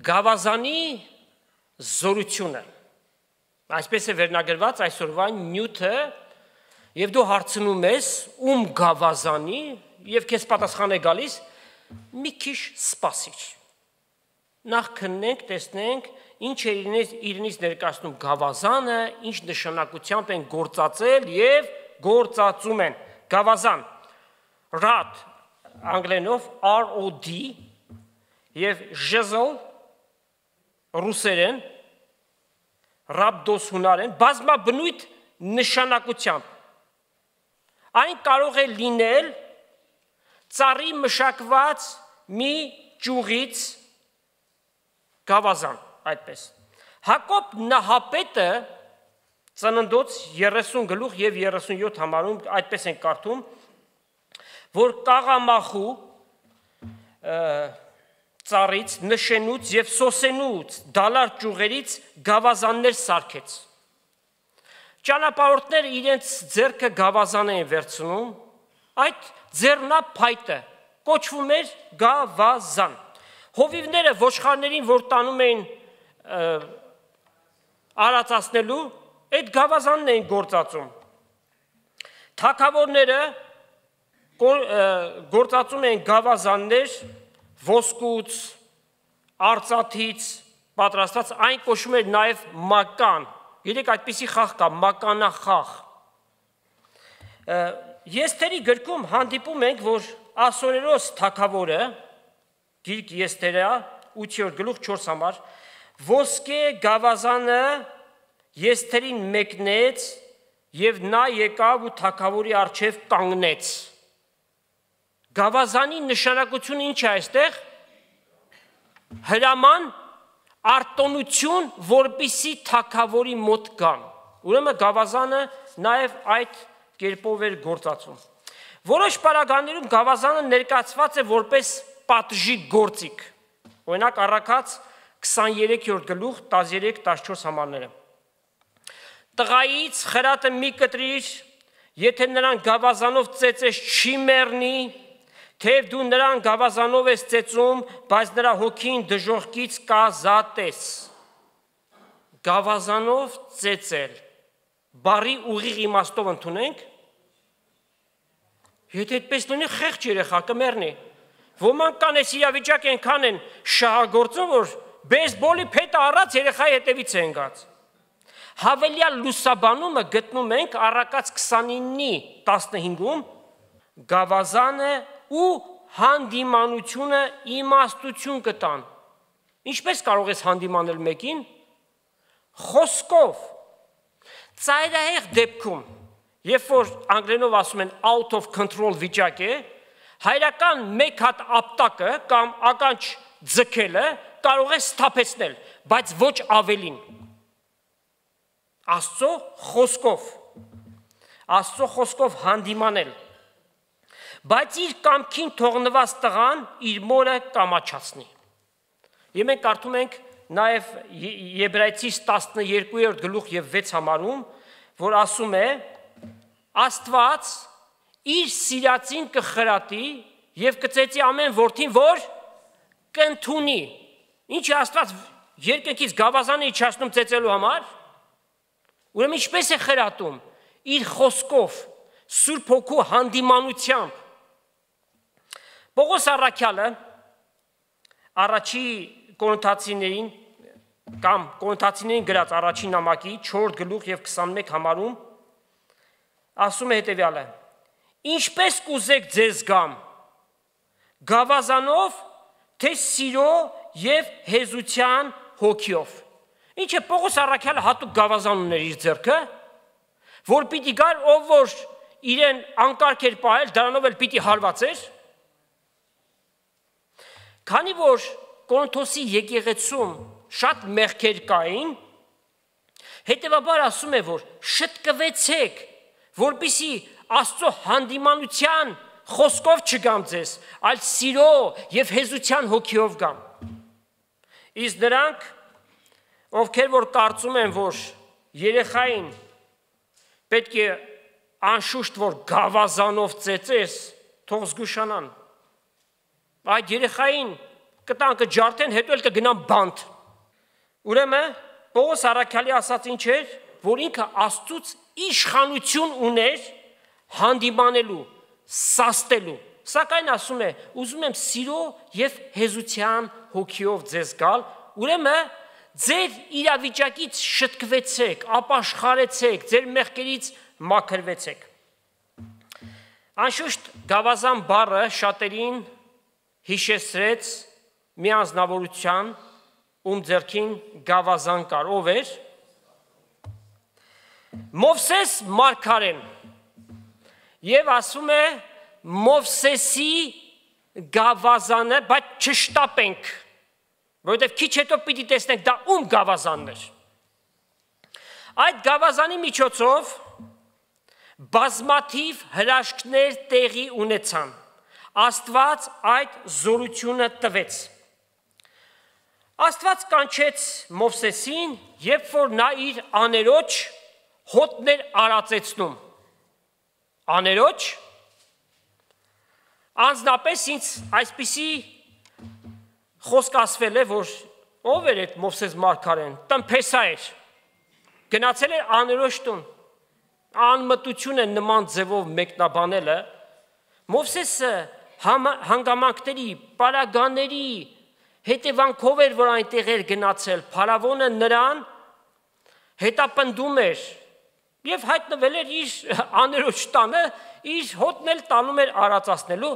Գավազանի զորությունը, այսպես է վերնագրված այսօրվա նյութը, եւ դու հարցնում ես ում գավազանի եւ քեզ պատասխան է գալիս մի քիչ սպասիչ։ Նախ քննենք, տեսնենք ինչ է իրենից ներկայացնում գավազանը, ինչ նշանակությամբ են գործածել եւ գործածում են։ Գավազան, rod, անգլերենով ROD եւ jezl ռուսերեն, rhabdos հունարեն, բազմաբնույթ նշանակությամբ։ Այն կարող է լինել ծառի մշակված մի ճյուղից գավազան, այդպես։ Հակոբ նահապետը ծննդոց 30 գլուխ եւ 37 համարում այդպես են կարդում, որ կաղամախու ծառից, նշենուց եւ սոսենուց, դալար ճյուղերից գավազաններ սարքեց։ Ճանապարհորդները իրենց ձեռքը գավազան էին վերցնում, այդ ձեռնափայտը կոչվում էր գավազան։ Հովիվները ոչխարներին, որ տանում էին արածացնելու, այդ գավազանն էին գործածում։ Թագավորները գործածում էին գավազաններ ոսկուց, արծաթից պատրաստած, այն կոչվում էր նաև մական։ Երեք այդպիսի խաղ կա, մականախաղ։ Եսթերի գրքում հանդիպում ենք, որ Ասորերոս թագավորը, գիրք Եսթերա 8-րդ գլուխ 4 համար, ոսկե գավազանը Եսթերին մեկնեց եւ նա եկավ ու թագավորի առջև կանգնեց։ Գավազանի նշանակությունը ինչ է այստեղ։ Հրաման, արտոնություն, որպիսի թագավորի մոտ գան։ Ուրեմն գավազանը նաև այդ կերպով էր գործածում։ Որոշ պարագաներում գավազանը ներկայացված է որպես պատժի գործիք։ Օրինակ առաքած 23-րդ գլուխ 13-14 համարները։ Տղայից խրատը մի կտրիր, եթե նրան գավազանով ծեծես չի մեռնի, թեև դու նրան գավազանով ես ծեծում, բայց նրա հոգին դժոխքից կազատես։ Գավազանով ծեծել, բարի ուղիղ իմաստով ընդունենք, եթե այդպես լինի խեղճ երեխա կմեռնի։ Ոմանք կան այս իրավիճակ ենքան են շահագործում, որ բեյսբոլի փետը առած երեխայի հետևից են գած։ Հավելյալ լուսաբանումը գտնում ենք առակաց 29-ի 15-ում գավազանը ու հանդիմանությունը իմաստություն կտան։ Ինչպես կարող ես հանդիմանել մեկին։ Խոսքով։ Ծայրահեղ դեպքում, երբ որ անգլերենով ասում են out of control վիճակ է, հայրական մեկ հատ ապտակը կամ ականջ ձգելը կարող է սթափեցնել, բայց ոչ ավելին։ Աստծո խոսքով հանդիմանել, բայց իր կամքին թողնված տղան իր մորը կամաչացնի։ Եվ մենք կարդում ենք նաև Եբրայեցիս 12-րդ գլուխ եւ 6 համարում, որ ասում է. Աստված իր սիրածին կխրատի եւ կծեծի ամեն որդին, որ կընդունի։ Ինչ է Աստված երկնքից գավազանը իջացնում ծեծելու համար։ Ուրեմն ինչպես է խրատում։ Իր խոսքով, Սուրբ Հոգու հանդիմանությամբ։ Պողոս առաքյալը առաջի Կորինթացիներին կամ Կորինթացիներին գրած առաջին նամակի 4 գլուխ եւ 21 համարում ասում է հետեւյալը. Ինչպես կուզեք ձեզ գամ, գավազանով, թե սիրո եւ հեզության հոգիով։ Ինչ է Պողոս առաքյալը հատուկ գավազան ուներ իր ձեռքը, որ պիտի գար, ով որ իրեն անկարգ էր պահել, դրանով էլ պիտի հարվածեր։ Քանի որ Կորինթոսի եկեղեցում շատ մեղքեր կային, հետևաբար ասում է, որ շտկվեցեք, որպեսզի Աստծո հանդիմանության խոսքով չգամ ձեզ, այլ սիրո եւ հեզության հոգիով գամ։ Իսկ նրանք, ովքեր որ կարծում են, որ երեխային պետք է անշուշտ որ գավազանով ծեծես, թող զգուշանան։ Այդ երեխային կտան կջարդեն, հետո էլ կգնան բանտ։ Ուրեմն Պողոս առաքյալի ասած ինչ էր, որ ինքը Աստծուց իշխանություն ուներ հանդիմանելու, սաստելու։ Սակայն ասում է, ուզում եմ սիրո եւ հեզության հոգիով ձեզ գալ, ուրեմն ձեր իրավիճակից շտկվեցեք, ապաշխարեցեք, ձեր մեղքերից մաքրվեցեք։ Անշուշտ գավազան բառը շատերին հիշեցրեց մի անձնավորության, ում ձեռքին գավազան կար, ով էր։ Մովսես մարգարեն, եւ ասում է Մովսեսի գավազանը, բայց չշտապենք, որովհետև քիչ հետո պիտի տեսնենք դա ում գավազանն էր։ Այդ գավազանի միջոցով բազմաթիվ հրաշքներ տեղի ունեցան։ Աստված այդ զորությունը տվեց։ Աստված կանչեց Մովսեսին, երբ որ նա իր աներոջ հոտներ արածեցնում։ Աներոջ, անձնապես ինձ այսպիսի խոսք ասվել է, որ ով էր այդ Մովսես մարգարեն, տնփեսա էր, գնացել էր աներոջ տուն, անմտություն է նման ձևով մեկնաբանելը, Մովսեսը հանգամանքների, պարագաների հետևանքով էր, որ այնտեղ էր գնացել, փարավոնը նրան հետապնդում էր և հայտնվել էր իր աներոջ տանը, իր հոտն էլ տանում էր արածացնելու,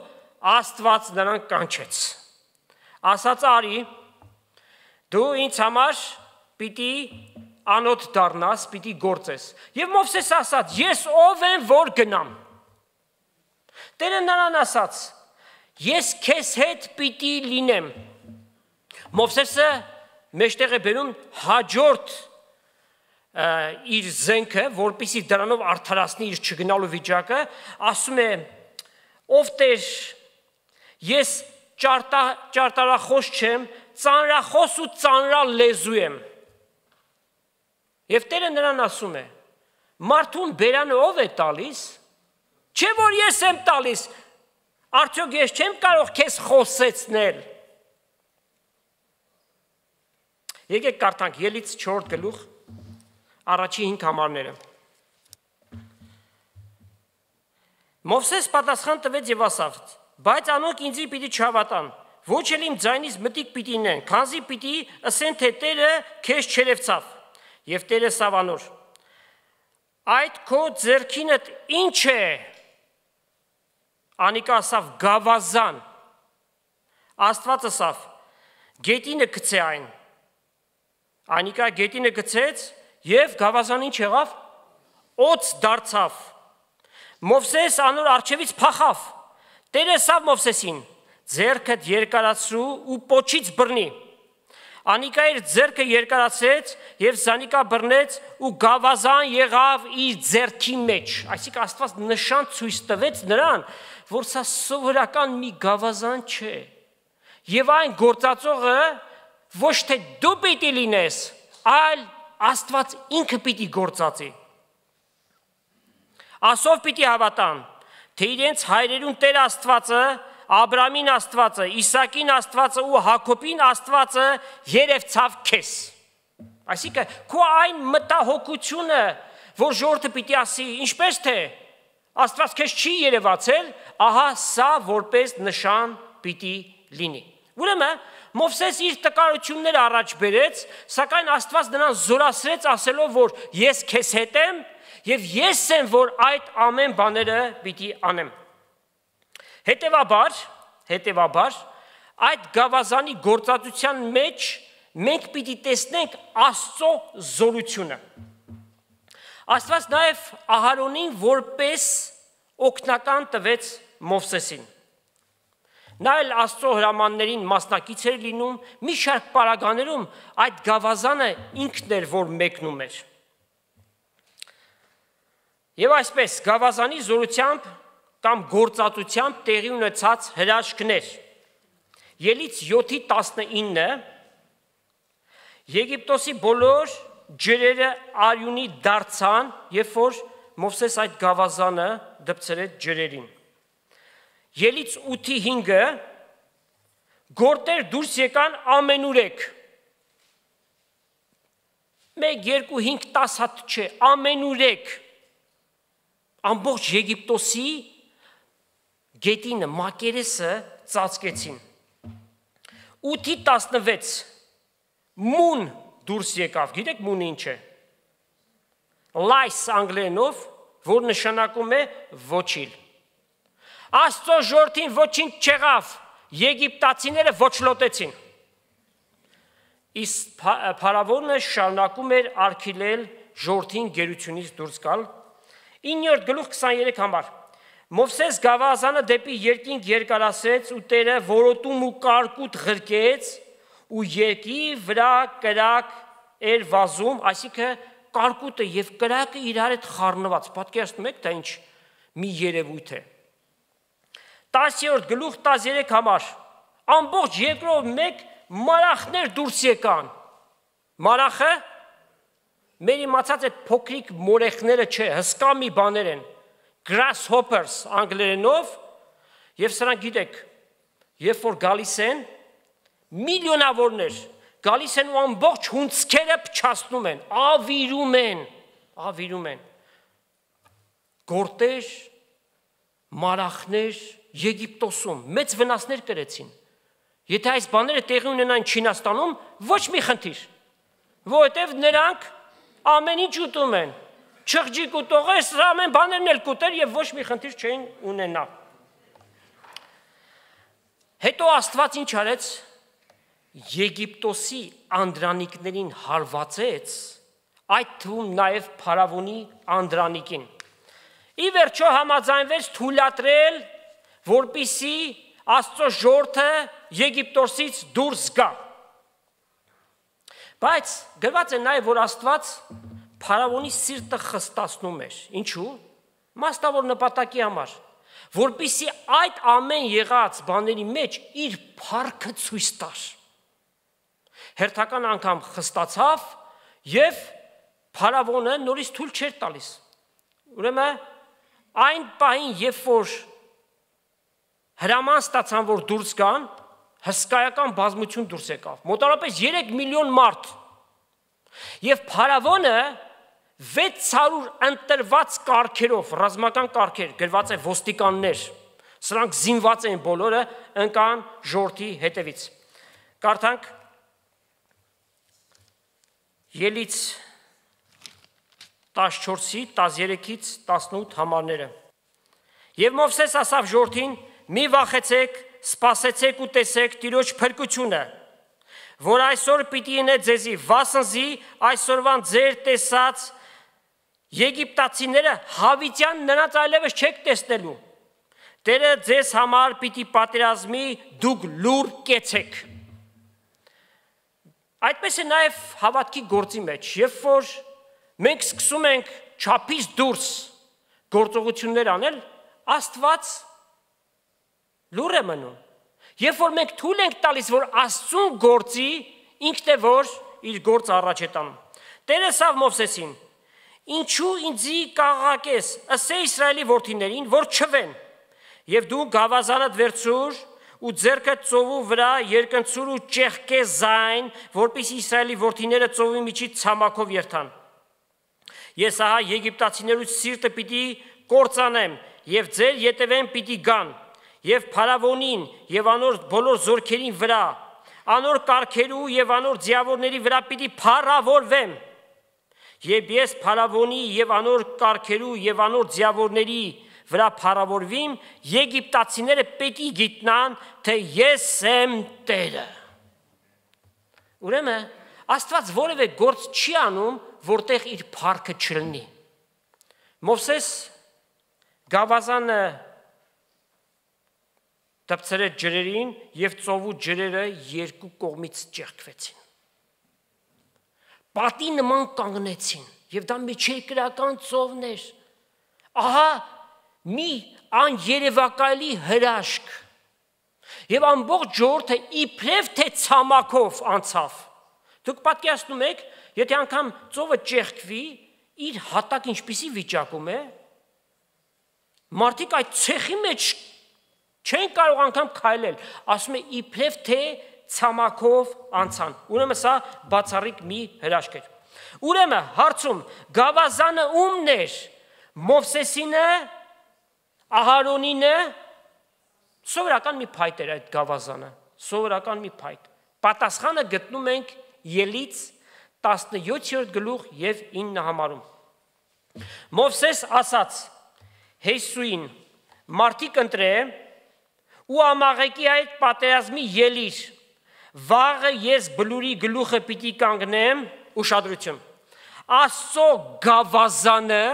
Աստված նրան կանչեց։ Ասաց արի, դու ինձ համար պիտի անոթ դառնաս, պիտի գործես։ Եվ Մովսես ասաց, ես ով եմ, որ գնամ։ Տերը նրան ասաց, ես քեզ հետ պիտի լինեմ։ Մովսեսը մեջտեղ է բերում հաջորդ իր զենքը, որպեսզի դրանով արդարացնի իր չգնալու վիճակը, ասում է, ով Տեր, ես ճարտարախոս չեմ, ծանրախոս ու ծանրալեզու եմ։ Եվ Տերը նրան ասում է, մարդուն բերանը ով է տալիս, չէ որ ես եմ տալիս, արդյոք ես չեմ կարող քեզ խոսեցնել։ Եկեք կարդանք Ելից 4 գլուխ առաջի 5 համարները։ Մովսես պատասխան տվեց եւ ասավ. բայց անոնք ինձի պիտի չհավատան, ոչ էլ իմ ձայնից մտիկ պիտի ինեն, քանզի պիտի ասեն թե Տերը քեզ չերևցավ։ Եվ Տերը սավանոր. այդ քո ձեռքինդ ինչ է։ Անիկա ասավ գավազան։ Աստված ասավ գետինը գցե այն։ Անիկա գետինը գցեց եւ գավազան ինչ եղավ։ Օծ դարձավ։ Մովսես անոր արջևից փախավ։ Տերը ասավ Մովսեսին. ձեռքդ երկարացրու ու պոչից բռնի։ Անիկա իր ձեռքը երկարացրեց եւ Զանիկա բռնեց ու գավազան եղավ իր ձեռքի մեջ։ Այսինքն Աստված նշան ցույց տվեց նրան, որ սա սովորական մի գավազան չէ։ Եվ այն գործածողը ոչ թե դու պիտի լինես, այլ Աստված ինքը պիտի գործածի։ Ասով պիտի հավատան, թե իրենց հայրերուն Տեր Աստվածը, Աբրամին Աստվածը, Իսակին Աստվածը ու Հակոբին Աստվածը երևցավ քեզ։ Այսինքն քո այն մտահոգությունը, որ ժողովուրդը պիտի ասի, ինչպես թե Աստված քեզ չի երևացել, ահա սա որպես նշան պիտի լինի։ Ուրեմն Մովսես իր տկարությունները առաջ բերեց, սակայն Աստված նրան զորացրեց ասելով, որ ես քեզ հետ եմ եւ ես եմ, որ այդ ամեն բաները պիտի անեմ։ Հետևաբար այդ գավազանի գործածության մեջ մենք պիտի տեսնենք Աստծո զորությունը։ Աստված նաև Ահարոնին որպես օգնական տվեց Մովսեսին։ Նա էլ Աստծո հրամաններին մասնակից էր լինում, մի շարք պարագաներում այդ գավազանը ինքն էր, որ մեկնում էր։ Եվ այսպես գավազանի զորությամբ կամ գործածությամբ տեղի ունեցած հրաշքներ։ Ելից 7:19 Եգիպտոսի բոլոր ջրերը արյունի դարձան, երբ որ Մովսես այդ գավազանը դպցրեց ջրերին։ Ելից 8:5 գորտեր դուրս եկան ամենուրեք։ 1, 2, 5, 10 հատ չէ, ամենուրեք։ Ամբողջ Եգիպտոսի գետինը, մակերեսը ծածկեցին։ 8:16 մուն դուրս եկավ։ Գիտեք մունը ինչ է։ Lice անգլերենով, որ նշանակում է ոչիլ։ Աստծո ժողովրդին ոչինչ չեղավ, եգիպտացիները ոչլոտեցին։ Իսկ փարավոնը շարունակում էր արգելել ժողովրդին գերությունից դուրս գալ։ 9-րդ գլուխ 23 համար։ Մովսես գավազանը դեպի երկինք երկարացրեց ու Տերը որոտում ու կարկուտ ղրկեց ու երկի վրա կրակ էր վազում, այսինքն կարկուտը եւ կրակը իրար հետ խառնված։ Պատկերացնում եք, դա ինչ մի երևույթ է։ 10-րդ գլուխ 13 համար։ Ամբողջ երկրով մեկ մարախներ դուրս եկան։ Մարախը մեր իմացած այդ փոքրիկ մորեխները չէ, հսկա մի բաներ են։ Grasshoppers անգլերենով, եւ սրանք գիտեք, երբ որ գալիս են, միլիոնավորներ գալիս են ու ամբողջ հունցքերը փչացնում են, ավիրում են։ Գորտեր, մարախներ Եգիպտոսում մեծ վնասներ կրեցին։ Եթե այս բաները տեղի ունենան Չինաստանում, ոչ մի խնդիր, որովհետև նրանք ամեն ինչ ուտում են, չղջիկ ուտողեր, սրա ամեն բաներն էլ կուտեր եւ ոչ մի խնդիր չէին ունենա։ Հետո Աստված ինչ արեց, Եգիպտոսի անդրանիկներին հարվածեց, այդ թվում նաև փարավոնի անդրանիկին։ Ի վերջո համաձայնվեց թույլատրել, որպիսի Աստծո ժողովուրդը Եգիպտոսից դուրս գա։ Բայց գրված է նաև, որ Աստված փարավոնի սիրտը խստացնում էր։ Ինչու՞։ Մասնավոր նպատակի համար, որպիսի այդ ամեն եղած բաների մեջ իր փառքը ցույց տար։ Հերթական անգամ խստացավ եւ փարավոնը նորից թույլ չէր տալիս։ Ուրեմն այն պահին, երբ որ հրաման ստացան, որ դուրս գան, հսկայական բազմություն դուրս եկավ։ Մոտավորապես 3 միլիոն մարդ։ Եվ փարավոնը 600 ընտրված կարգերով, ռազմական կարգեր, գրված է ոստիկաններ, սրանք զինված էին բոլորը, ընկան ժողովրդի հետևից։ Կարդանք Ելից 14-ի 13-ից 18 համարները։ Եվ Մովսես ասավ ժողովրդին. մի վախեցեք, սպասեցեք ու տեսեք Տիրոջ փրկությունը, որ այսօր պիտի ինե ձեզի, վասնզի այսօրվան ձեր տեսած եգիպտացիները հավիտյան նրանց այլևս չեք տեսնելու։ Տերը ձեզ համար պիտի պատերազմի, դուք լուր կեցեք։ Այդպես է նաև հավատքի գործի մեջ, երբ որ մենք սկսում ենք չափից դուրս գործողություններ անել, Աստված լուր է մնում։ Երբ որ մենք թույլ ենք տալիս, որ Աստծուն գործի, ինքն է որ իր գործը առաջ է տանում։ Տերը ասավ Մովսեսին. ինչու ինձի կաղաղակես, ասե Իսրայելի որդիներին, որ չվեն, եւ դու գավազանդ վերցուր ու ձեռքդ ծովու վրա երկնցուր ու ճեղքե զայն, որպեսզի Իսրայելի որդիները ծովի միջից ցամաքով երթան։ Ես ահա եգիպտացիներուց սիրտը պիտի կործանեմ եւ ձեր ետևեն պիտի գան եւ փարավոնին եւ անոր բոլոր զորքերին վրա, անոր կարգերու եւ անոր ձիավորների վրա պիտի փարավորվեմ։ Եվ ես փարավոնի եւ անոր կարգերու եւ անոր ձիավորների վրա փարավորվիմ, եգիպտացիները պետք է գիտնան, թե ես եմ Տերը։ Ուրեմն Աստված որևէ գործ չի անում, որտեղ իր փառքը չլինի։ Մովսես գավազանը դպցրեց ջրերին եւ ծովու ջրերը երկու կողմից ճեղքվեցին։ Պատի նման կանգնեցին եւ դա միջերկրական ծովներ։ Ահա մի աներևակայելի հրաշք եւ ամբողջ ժողովուրդը իբրև թե ցամաքով անցավ։ Դուք պատկերացնում եք, եթե անգամ ծովը ճեղքվի, իր հատակ ինչպիսի վիճակում է, մարդիկ այդ ցեխի մեջ չեն կարող անգամ քայլել, ասում է իբրև թե ցամաքով անցան։ Ուրեմն սա բացառիկ մի հրաշք էր։ Ուրեմն հարցում գավազանը ումն էր, Մովսեսինը, Ահարոնինը, սովորական մի փայտ էր այդ գավազանը, սովորական մի փայտ։ Պատասխանը գտնում ենք Ելից 17-րդ գլուխ եւ 9 համարում։ Մովսես ասաց Հեսուին. «Մարդիկ ընտրե ու ամաղեկի այդ պատերազմի ելիր, վաղը ես բլուրի գլուխը պիտի կանգնեմ», ուշադրություն, Աստծո գավազանը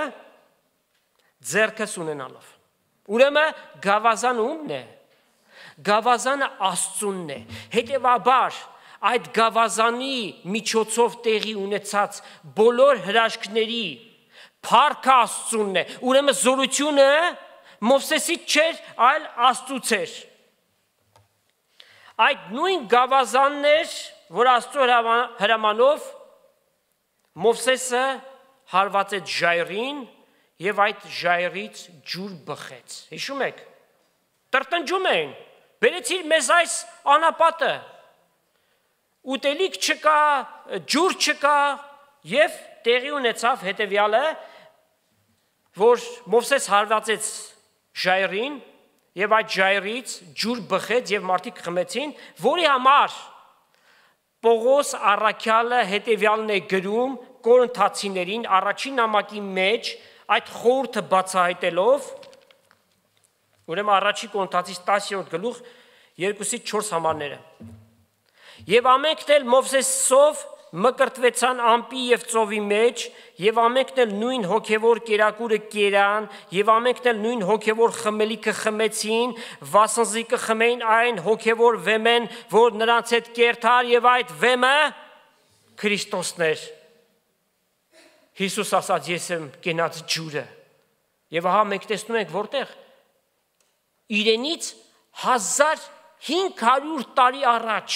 ձեռքս ունենալով։ Ուրեմն գավազանը ումն է։ Գավազանը Աստծունն է։ Հետևաբար այդ գավազանի միջոցով տեղի ունեցած բոլոր հրաշքների փառքը Աստծունն է։ Ուրեմն զորությունը Մովսեսից չէր, այլ Աստծուց էր։ Այդ նույն գավազանն էր, որ Աստծո հրամանով Մովսեսը հարվածեց ժայռին եւ այդ ժայռից ջուր բխեց։ Հիշում եք։ Տրտնջում էին։ Բերեցիր մեզ այս անապատը։ Ուտելիք չկա, ջուր չկա եւ տեղի ունեցավ հետեւյալը, որ Մովսես հարվածեց ժայռին եւ այդ ժայռից ջուր բխեց եւ մարդիկ խմեցին, որի համար Պողոս առաքյալը հետեւյալն է գրում Կորինթացիներին առաջին նամակի մեջ այդ խորհուրդը բացահայտելով, ուրեմն առաջի Կորինթացիս 10-րդ գլուխ 2-ից 4 համարները։ Եվ ամենքն էլ Մովսեսով մկրտվեցան ամպի եւ ծովի մեջ, եւ ամենքն էլ նույն հոգեվոր կերակուրը կերան, եւ ամենքն էլ նույն հոգեվոր խմելիքը խմեցին, վասնզի կխմեին այն հոգեվոր վեմեն, որ նրանց հետ կերտար, եւ այդ վեմը Քրիստոսն էր։ Հիսուս ասաց. «Ես եմ կենաց ջուրը»։ Եվ ահա մենք տեսնում ենք որտեղ իրենից 1500 տարի առաջ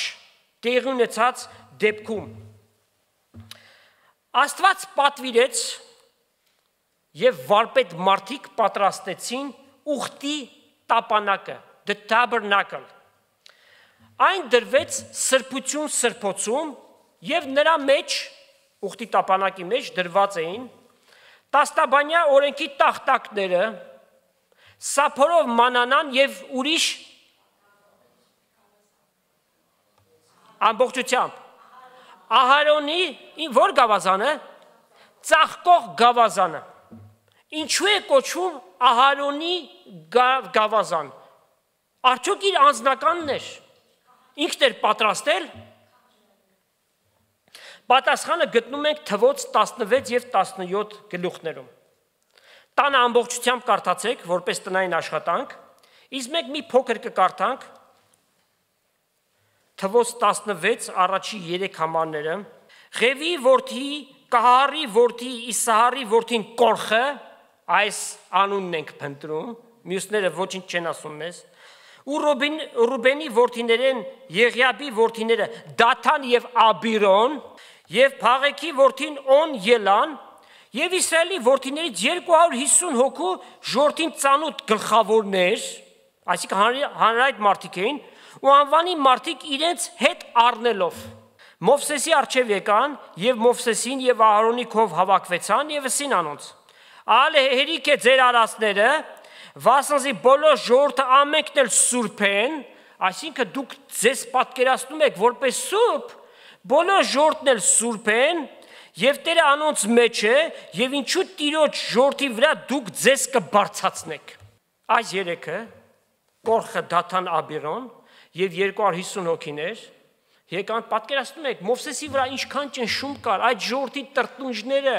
տեղի ունեցած դեպքում Աստված պատվիրեց եւ վարպետ մարդիկ պատրաստեցին ուխտի տապանակը, the tabernacle։ Այն դրվեց սրբություն սրբոցում եւ նրա մեջ ուխտի տապանակի մեջ դրված էին տաստաբանյա օրենքի տախտակները, սափորով մանանան եւ ուրիշ ամբողջությամբ Ահարոնի որ գավազանը, ծաղկող գավազանը։ Ինչու է կոչվում Ահարոնի գավազան։ Արդյոք իր անձնականն էր, ինքն էր պատրաստել։ Պատասխանը գտնում ենք Թվոց 16 եւ 17 գլուխներում։ Տանը ամբողջությամբ կարդացեք, որպես տնային աշխատանք, իսկ մենք մի փոքր կկարդանք Թվոց 16 առաջի 3 համարները, Ղևի որդի, Կահարի որդի, Իսահարի որդին Կորխը, այս անունն ենք փնտրում, մյուսները ոչինչ չեն ասում մեզ, ու Ռուբենի որդիներեն Եղիաբի որդիները Դաթան եւ Աբիրոն, եւ Փաղեքի որդին On Ելան, եւ Իսրայելի որդիներից 250 հոգու ժողովրդին ծանոթ գլխավորներ, այսինքն հանրայդ մարդիկ էին, ու անվանի մարդիկ իրենց հետ առնելով Մովսեսի առջև եկան եւ Մովսեսին եւ Ահարոնի քով հավաքվեցան եւ ասին անոնց. «Ալե հերիք է ձեր արածները, վասնզի բոլոր ժողովուրդը ամենքն էլ սուրբ են», այսինքն դուք ձեզ պատկերացնում եք որպես սուրբ, բոլոր ժողովուրդն էլ սուրբ են եւ Տերը անոնց մեջ է եւ ինչու Տիրոջ ժողովրդի վրա դուք ձեզ կբարձրացնեք։ Այս երեքը Կորխը, Դաթան, Աբիրոն եւ 250 հոգիներ եկան, պատկերացնում եք Մովսեսի վրա ինչքան ճնշում կար, այդ ժողովրդի տրտնուժները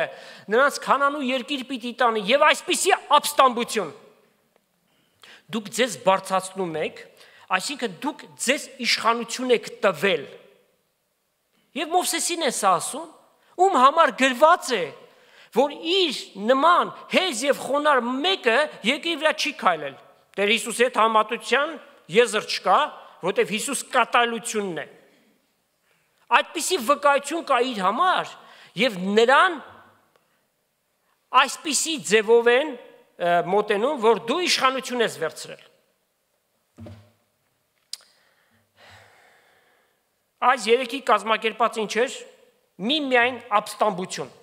նրանց Քանանու երկիր պիտի տանի եւ այսպիսի ապստամբություն։ Դուք ձեզ բարձրացնում եք, այսինքն դուք ձեզ իշխանություն եք տվել։ Եվ Մովսեսին է սա ասում, ում համար գրված է, որ իր նման հեզ եւ խոնար մեկը երկրի վրա չի քայլել։ Տեր Հիսուսի հետ համատության եզր չկա, որտեվ Հիսուս կատարելությունն է։ Այդպիսի վկայություն կա իր համար եւ նրան այսպիսի ձևով են մոտենում, որ դու իշխանություն ես վերցրել։ Այս երեքի կազմակերպած ինչ էր, միայն ապստամբություն։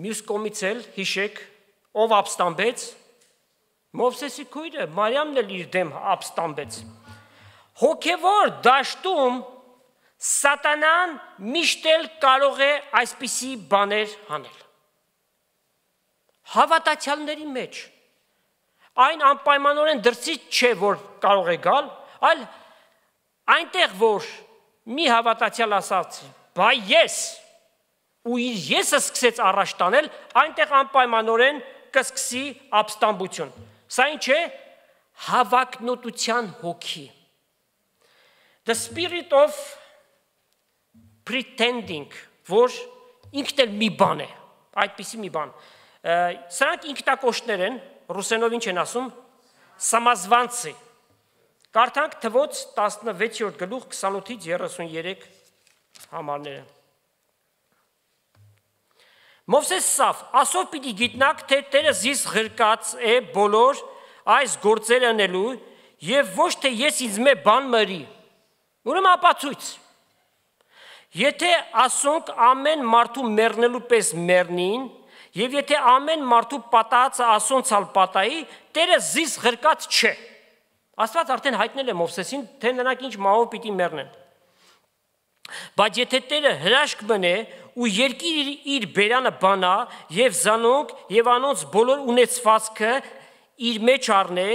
Մյուս կողմից էլ հիշեք, ով ապստամբեց, Մովսեսի քույրը, Մարիամն էլ իր դեմ ապստամբեց։ Հոգևոր դաշտում Սատանան միշտ էլ կարող է այսպիսի բաներ անել։ Հավատացյալների մեջ այն անպայմանորեն դրսից չէ, որ կարող է գալ, այլ այնտեղ, որ մի հավատացյալ ասաց, բայ ես, ու իր եսը սկսեց առաջ տանել, այնտեղ անպայմանորեն կսկսի ապստամբություն։ Սա ինչ է? Հավակնոտության հոգի։ The spirit of pretending, որ ինքն էլ մի բան է, այդպիսի մի բան։ Սրանք ինքնակոչներ են, ռուսերենով ինչ են ասում, Սամազվանցի։ Կարդանք Թվոց 16-րդ գլուխ 28-ից 33 համարները։ Մովսես ասավ, ասով պիտի գիտնաք, թե Տերը զիս ղրկած է բոլոր այս գործերը անելու եւ ոչ թե ես ինձ մե բան մրի։ Ուրեմն ապացույց։ Եթե ասոնք ամեն մարդու մեռնելու պես մեռնին, եւ եթե ամեն մարդու պատահածը ասոնցալ պատահի, Տերը զիս ղրկած չէ։ Աստված արդեն հայտնել է Մովսեսին, թե նրանք ինչ մահով պիտի մեռնեն։ Բայց եթե Տերը հրաշք մնե ու երկիր իր բերանը բանա եւ զանոնք եւ անոնց բոլոր ունեցվածքը իր մեջ առնե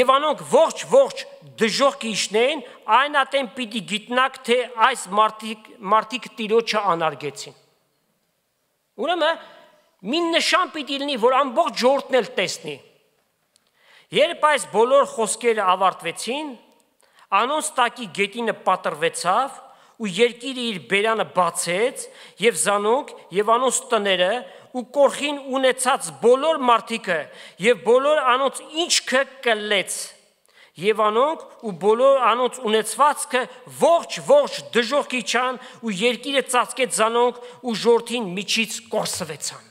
եւ անոնք ողջ դժոխք իշնեն, այն ատեն պիտի գիտնաք, թե այս մարդիկ Տիրոջը անարգեցին։ Ուրեմն մի նշան պիտի լինի, որ ամբողջ ժողովուրդն էլ տեսնի։ Երբ այս բոլոր խոսքերը ավարտվեցին, անոնց տակի գետինը պատրվեցավ ու երկիրը իր բերանը բացեց եւ զանոնք եւ անոնց տները ու կորխին ունեցած բոլոր մարդիկը եւ բոլոր անոնց ինչքը կլեց եւ անոնք ու բոլոր անոնց ունեցվածքը ողջ դժոխքի չան ու երկիրը ծածկեց զանոնք ու ժողովրդին միջից կորսվեցան։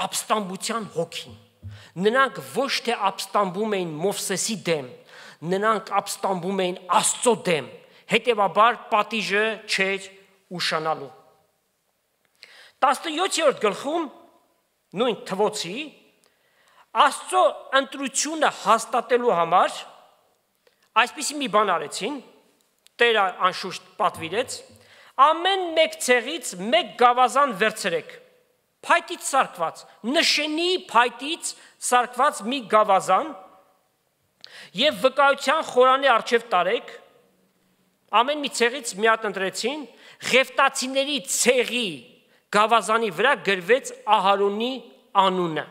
Ապստամբության հոգին։ Նրանք ոչ թե ապստամբում էին Մովսեսի դեմ, նրանք ապստամբում էին Աստծո դեմ, հետևաբար պատիժը չէր ուշանալու։ 17-րդ գլխում նույն Թվոցի Աստծո ընտրությունը հաստատելու համար այսպիսի մի բան արեցին, Տերը անշուշտ պատվիրեց, ամեն մեկ ցեղից մեկ գավազան վերցրեք, փայտից սարքված, նշանի փայտից սարքված մի գավազան եւ վկայության խորանի առջև տարեք, ամեն մի ցեղից մի հատ ընտրեցին, Ղևտացիների ցեղի գավազանի վրա գրվեց Ահարոնի անունը,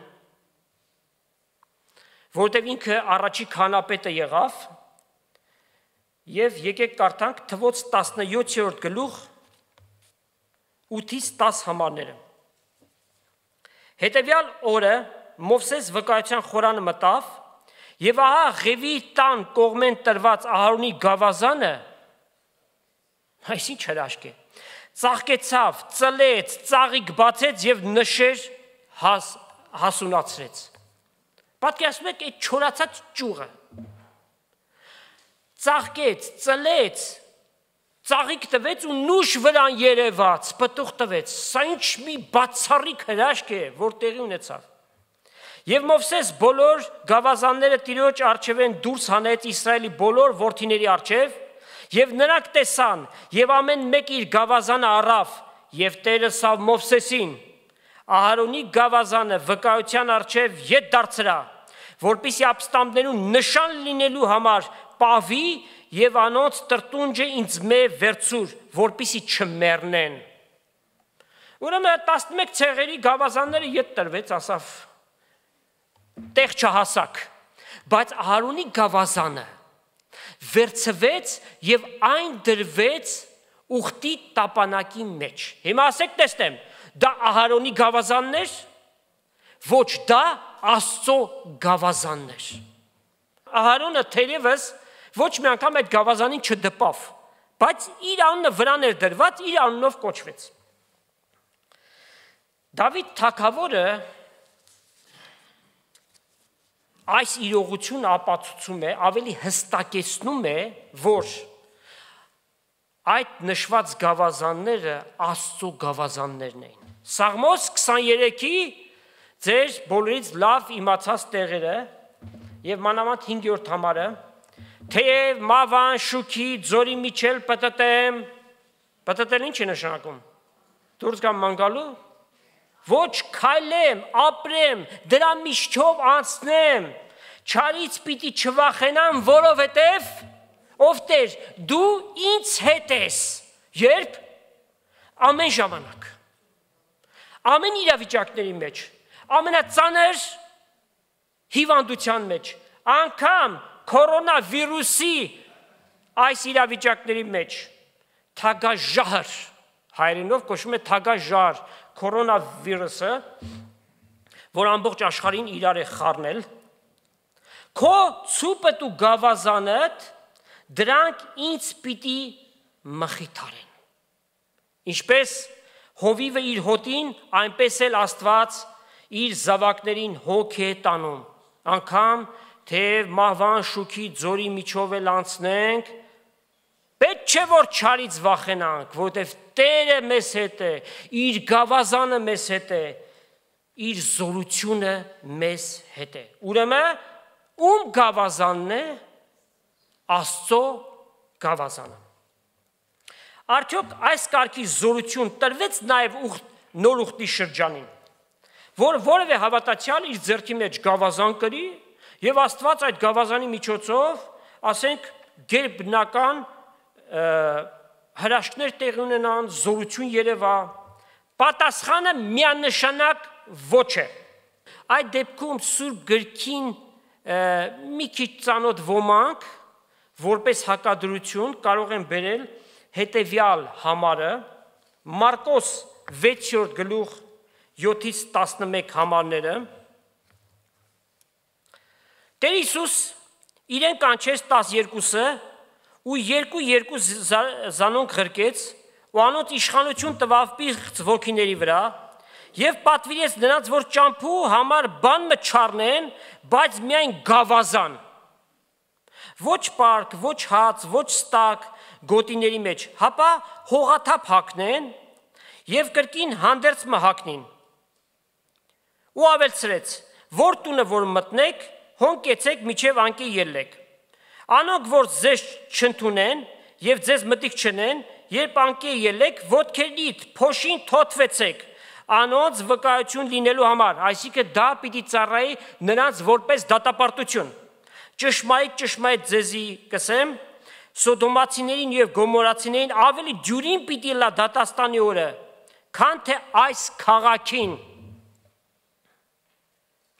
որտեղ ինքը առաջի քահանապետը եղավ, եւ եկեք կարդանք Թվոց 17-րդ գլուխ 8-ից 10 համարները։ Հետևյալ օրը Մովսես վկայության խորանը մտավ եւ ահա Ղևի տան կողմեն տրված Ահարոնի գավազանը, այս ինչ հրաշք է, ծաղկեցավ, ծլեց, ծաղիկ բացեց եւ նշեր հասունացրեց։ Պատկերացնում եք այդ չորացած ճյուղը։ Ծաղկեց, ծլեց, ծաղիկ տվեց ու նուշ վրան երևաց, պտուղ տվեց։ Սա ինչ մի բացառիկ հրաշք է, որ տեղի ունեցավ։ Եվ Մովսես բոլոր գավազանները Տիրոջ առջևեն դուրս հանեց Իսրայելի բոլոր որդիների առջև, եւ նրանք տեսան, եւ ամեն մեկ իր գավազանը առավ, եւ Տերը սավ Մովսեսին Ահարոնի գավազանը վկայության առջև ետ դարձրա, որպեսզի ապստամբներուն նշան լինելու համար պավի եւ անոնց տրտունջը ինձ մե վերցուր, որպեսզի չմեռնեն։ Ուրեմն 11 ցեղերի գավազանները ետ տրվեց, ասավ տեղ չհասակ, բայց Ահարոնի գավազանը վերցվեց եւ այն դրվեց ուխտի տապանակի մեջ։ Հիմա ասեք տեսնեմ, դա Ահարոնի գավազաններ, ոչ դա Աստծո գավազաններ։ Ահարոնը թերևս ոչ մի անգամ այդ գավազանին չդպավ, բայց իր անունը վրան էր դրված, իր անունով կոչվեց։ Դավիթ թագավորը այս իրողությունը ապացուցում է, ավելի հստակեցնում է, որ այդ նշված գավազանները Աստծո գավազաններն էին։ Սաղմոս 23-ի ձեր բոլորից լավ իմացած տեղերը եւ մանավանդ 5-րդ համարը թեև մավան շուքի ձորի միջել պտտեմ, պտտել ինչ է նշանակում, դուրս գամ մանգալու, ոչ քայլեմ, ապրեմ, դրա միջով անցնեմ, չարից պիտի չվախենամ, որովհետև ով Տեր, դու ինձ հետ ես, երբ ամեն ժամանակ, ամեն իրավիճակների մեջ, ամենածանր հիվանդության մեջ, անգամ կորոնավիրուսի այս իրավիճակների մեջ, թագաժահր, հայերենով կոչվում է թագաժահր, կորոնավիրուսը, որ ամբողջ աշխարհին իրար է խառնել, քո ցուպդ ու գավազանդ դրանք ինձ պիտի մխիթարեն։ Ինչպես հովիվը իր հոտին, այնպես էլ Աստված իր զավակներին հոգ է տանում, անգամ թեև մահվան շուքի ձորի միջով էլ անցնենք, պետք չէ որ չարից վախենանք, որովհետև Տերը մեզ հետ է, իր գավազանը մեզ հետ է, իր զորությունը մեզ հետ է։ Ուրեմն ում գավազանն է, Աստծո գավազանը։ Արդյոք այս կարգի զորություն տրվեց նաև նոր ուխտի շրջանին, որ որևէ հավատացյալ իր ձեռքի մեջ գավազան կրի եւ Աստված այդ գավազանի միջոցով, ասենք, գերբնական հրաշքներ տեղի ունենան, զորություն երևա, պատասխանը միանշանակ ոչ է։ Այդ դեպքում Սուրբ գրքին մի քիչ ծանոթ ոմանք որպես հակադրություն կարող են բերել հետևյալ համարը Մարկոս 6-րդ գլուխ 7-ից 11 համարները Տեր Հիսուս իրեն կանչեց 12-ը ու երկու զանոնք ղրկեց ու անոնց իշխանություն տվավ պիղծ ոգիների վրա եւ պատվիրեց նրանց որ ճամփու համար բան մը չառնեն, բայց միայն գավազան ոչ պարկ, ոչ հաց, ոչ ստակ գոտիների մեջ, հապա հողաթափ հագնեն եւ կրկին հանդերձ մհակնին։ Ու ավելցրեց, որ տունը որ մտնեք, հոն կեցեք միջև անկե ելեք։ Անոնք որ ձեզ չընդունեն եւ ձեզ մտիկ չնեն, երբ անկե ելեք, ոտքերիդ փոշին թոթվեցեք։ Անոնց վկայություն լինելու համար, այսինքն դա պիտի ծառայի նրանց որպես դատապարտություն։ Ճշմարիտ ձեզի կսեմ, Սոդոմացիներին եւ Գոմորացիներին ավելի ջուրին պիտի լա դատաստանի օրը, քան թե այս քաղաքին,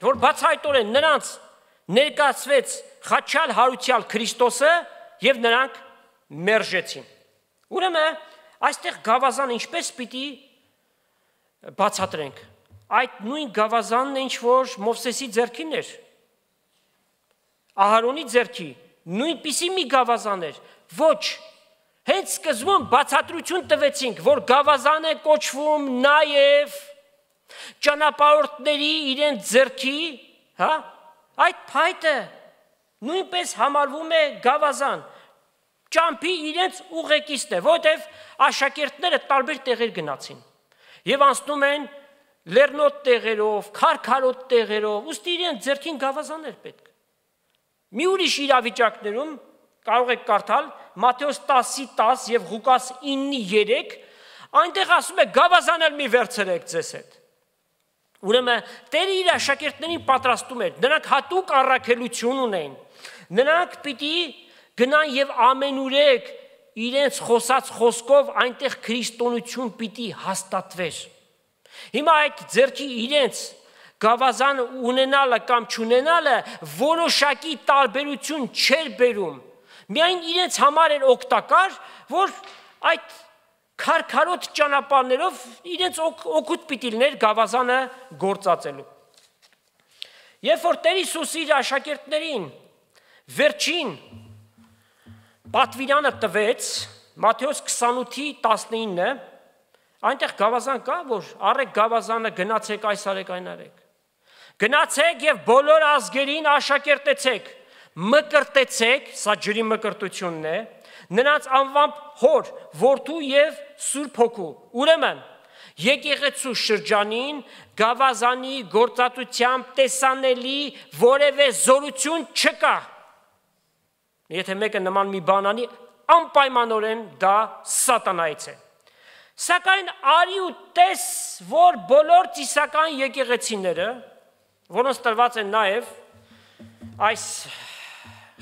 որ բացահայտորեն նրանց ներկայացվեց խաչյալ հարուցյալ Քրիստոսը եւ նրանք մերժեցին։ Ուրեմն այստեղ գավազանը ինչպես պիտի բացատրենք։ Այդ նույն գավազանն է ինչ որ Մովսեսի ձեռքին էր։ Ահարոնի ձեռքի նույնպիսի մի գավազան էր, ոչ, հենց սկզբում բացատրություն տվեցինք, որ գավազան է կոչվում նաև ճանապարհորդների իրենց ձեռքի, այդ փայտը նույնպես համարվում է գավազան, ճամփի իրենց ուղեկիցն է, որտեղ աշակերտները տարբեր տեղեր գնացին եւ անցնում են լեռնոտ տեղերով, քարքարոտ տեղերով, ուստի իրենց ձեռքին գավազան էր պետք։ Մի ուրիշ իրավիճակներում կարող եք կարդալ Մատթեոս 10:10 եւ Ղուկաս 9:3, այնտեղ ասում է գավազանել մի վերցրեք ձեզ հետ։ Ուրեմն Տերը իր աշակերտներին պատրաստում էր, նրանք հատուկ առաքելություն ունեն, նրանք պիտի գնան եւ ամենուրեք իրենց խոսած խոսքով այնտեղ քրիստոնեություն պիտի հաստատվեր։ Հիմա այդ ձեռքի իրենց գավազան ունենալը կամ չունենալը որոշակի տարբերություն չէր բերում, միայն իրենց համար էր օգտակար, որ այդ քարքարոտ ճանապարհներով իրենց օգուտ պիտի լիներ գավազանը գործածելու։ Երբ որ Տեր Հիսուս իր աշակերտներին վերջին պատվիրանը տվեց, Մատթեոս 28:19, այնտեղ գավազան կա, որ առեք գավազանը, գնացեք այս արեք, այն արեք։ Գնացեք եւ բոլոր ազգերին աշակերտեցեք, մկրտեցեք, սա ջրի մկրտությունն է, նրանց անվամբ Հոր, Որդու եւ Սուրբ Հոգու։ Ուրեմն եկեղեցու շրջանին գավազանի գործածությամբ տեսանելի որևէ զորություն չկա։ Եթե մեկը նման մի բան անի, անպայմանորեն դա սատանայից է։ Սակայն արի ու տես, որ բոլոր ծիսական եկեղեցիները, որոնց տրված են նաև այս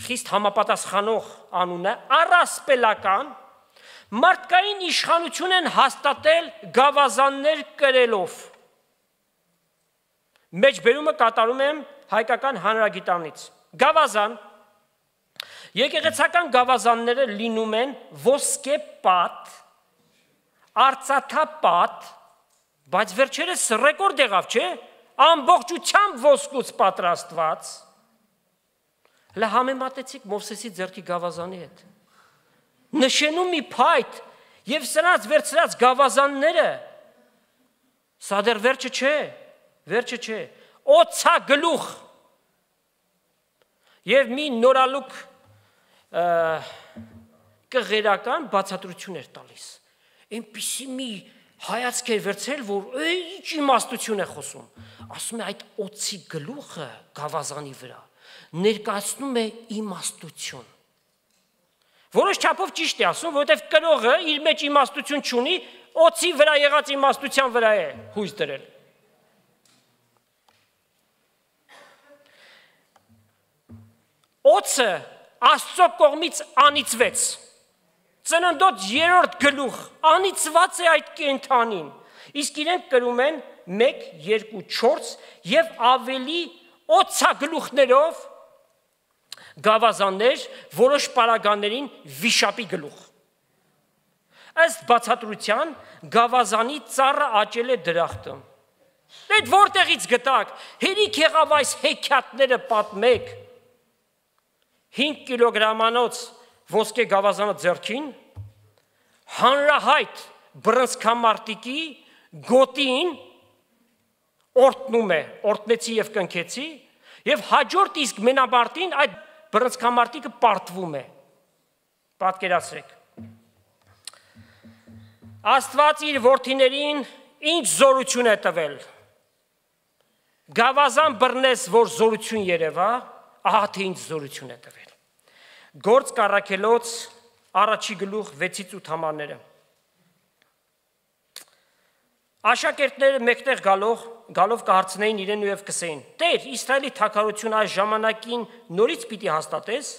խիստ համապատասխանող անունը, առասպելական մարդկային իշխանություն են հաստատել գավազաններ կրելով։ Մեջբերումը կատարում եմ հայկական հանրագիտանից։ Գավազան, եկեղեցական գավազանները լինում են ոսկե պատ, արծաթապատ, բայց վերջերս ռեկորդ եղավ, չէ՞, ամբողջությամբ ոսկուց պատրաստված։ Հələ համեմատեցիք Մովսեսի ձեռքի գավազանի հետ։ Նշenu մի փայտ եւ սրանց վերցրած գավազանները, սա դեռ վերջը չէ, օծագլուխ եւ մի նորալուկ կղերական բացատրություն էր տալիս։ Այնպիսի մի հայացք էր վերցրել, որ ինչ իմաստություն է խոսում։ Ասում է այդ օծի գլուխը գավազանի վրա ներկայացնում է իմաստություն։ Որոշ չափով ճիշտ է ասում, որովհետև կրողը իր մեջ իմաստություն չունի, օծի վրա եղած իմաստության վրա է հույս դրել։ Օծը Աստծո կողմից անիծվեց։ Ծննդոց 3-րդ գլուխ անիծված է այդ կենդանին։ Իսկ իրենք կրում են 1, 2, 4 եւ ավելի օծագլուխներով գավազաններ, որոշ պարագաներին վիշապի գլուխ։ Ըստ բացատրության գավազանի ծառը աճել է դրախտը։ Այդ որտեղից գտակ, հերիք եղավ այս հեքիաթները պատմեք։ 5 կիլոգրամանոց ոսկե գավազանը ձեռքին, հանրահայտ բռնցքամարտիկի գոտին օրտնում է, օրտնեցի եւ կնքեցի, եւ հաջորդ իսկ մենամարտին այդ բռնցքամարտիկը պարտվում է։ Պատկերացրեք։ Աստված իր որդիներին ինչ զորություն է տվել։ Գավազան բռնես, որ զորություն երևա, ահա թե ինչ զորություն է տվել։ Գործ Առաքելոց առաջի գլուխ 6-8 համարները։ Աշակերտները մեկտեղ գալով կհարցնեին իրեն և կսեին. Տեր, Իսրայելի թագավորությունը այս ժամանակին նորից պիտի հաստատես։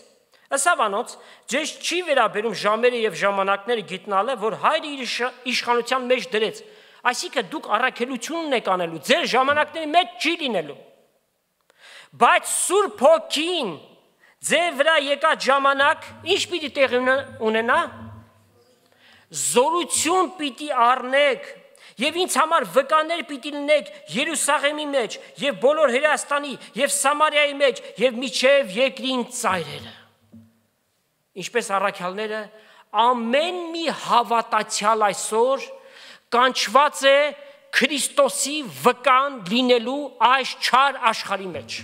Ըսավանոց, ձեզ չի վերաբերում ժամերը և ժամանակները գիտնալը, որ հայրը իր իշխանության մեջ դրեց։ Այսինքն դուք առաքելությունն եք անելու, ձեր ժամանակների մեջ չի լինելու։ Բայց Սուրբ Հոգին ձեր վրա եկած ժամանակ ինչ պիտի տեղի ունենա։ Զորություն պիտի առնեք եւ ինձ համար վկաներ պիտի լինեք Երուսաղեմի մեջ եւ բոլոր Հրեաստանի եւ Սամարիայի մեջ եւ միջև երկրին ծայրերը։ Ինչպես առաքյալները, ամեն մի հավատացյալ այսօր կանչված է Քրիստոսի վկան լինելու այս չար աշխարհի մեջ։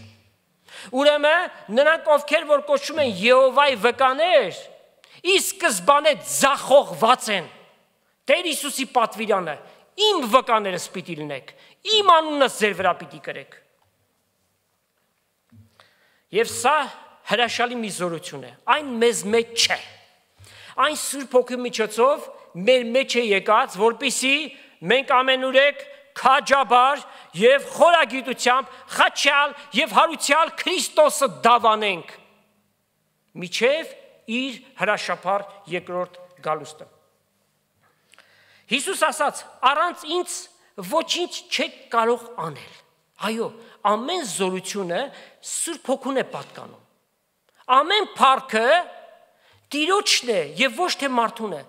Ուրեմն նրանք ովքեր որ կոչվում են Եհովայի վկաներ, ի սկզբանե ձախողված են։ Տեր Հիսուսի պատվիրանը, իմ վկաներս պիտի լինեք, իմ անունս ձեր վրա պիտի կրեք։ Եվ սա հրաշալի մի զորություն է, այն մեզ մեջ չէ։ Այն Սուրբ Հոգու միջոցով մեր մեջ է եկած, որպեսզի մենք ամենուրեք քաջաբար եւ խորագիտությամբ խաչյալ եւ հարուցյալ Քրիստոսը դավանենք միջև իր հրաշափառ երկրորդ գալուստը։ Հիսուս ասաց. առանց ինձ ոչինչ չեք կարող անել։ Այո, ամեն զորությունը Սուրբ Հոգուն է պատկանում։ Ամեն փառքը Տիրոջն է եւ ոչ թե մարդուն է։